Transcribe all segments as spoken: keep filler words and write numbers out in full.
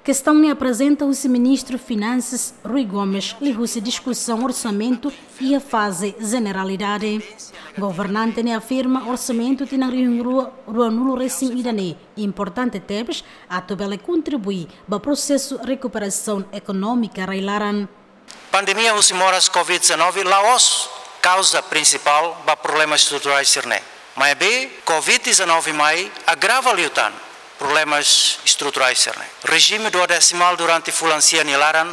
Kestaun ne'e aprezenta husi Ministru Finansas Rui Gomes liuhusi diskusaun orsamentu iha faze jeneralidade. Governante ne'e afirma orsamentu tinan rihun rua ruanulu resin ida ne'e importante tebes atu bele kontribui ba prosesu rekuperasaun ekonómika rai-laran. Pandemia husi moras covid dezanove la'ós kauza prinsipál ba problemas estruturais sira-ne'e. Maibé, covid dezanove mai agrava liután problemas estruturais sira-ne'e. Rejime duodesimál durante fulan sia nia laran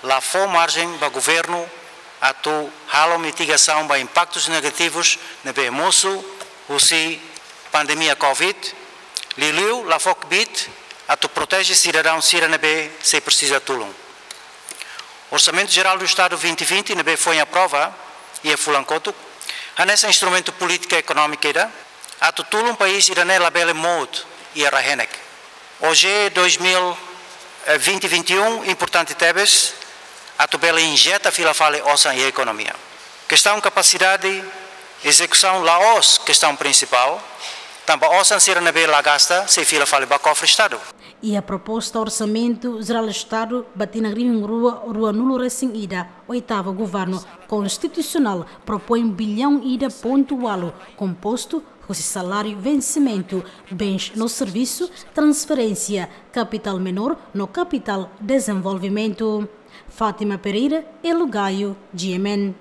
la fó marjen ba governu atu halo mitigasaun ba impaktus negativus ne'ebé mosu husi pandemia covid, liuliu la fó kbiit atu proteje sidadaun sira ne'ebé sei presiza tulun. Orsamentu Jerál do Estadu vinte vinte ne'ebé foin aprova iha fulan kotuk, hanesan instrumentu polítika ekonómika ida atu tulun país ida ne'e labele mout iha rai-henek. OJE dois mil e vinte, vinte e um importante tebes atu bele injeta fila fali osan iha ekonomia. Kestaun kapasidade ezekusaun la'ós kestaun prinsipál, tanba osan sira ne'ebé la gasta sei fila fali ba kofre Estadu. Iha proposta Orsamentu Jerál Estadu ba tinan rihun rua ruanulu resin ida, oitavu governu konstitusionál propoin biliaun ida pontu ualu, kompostu husi saláriu, vensimentu, bens no servisu, transferénsia, kapitál menór no kapitál dezenvolvimentu. Fátima Pereira, Elo Gaio, G M N.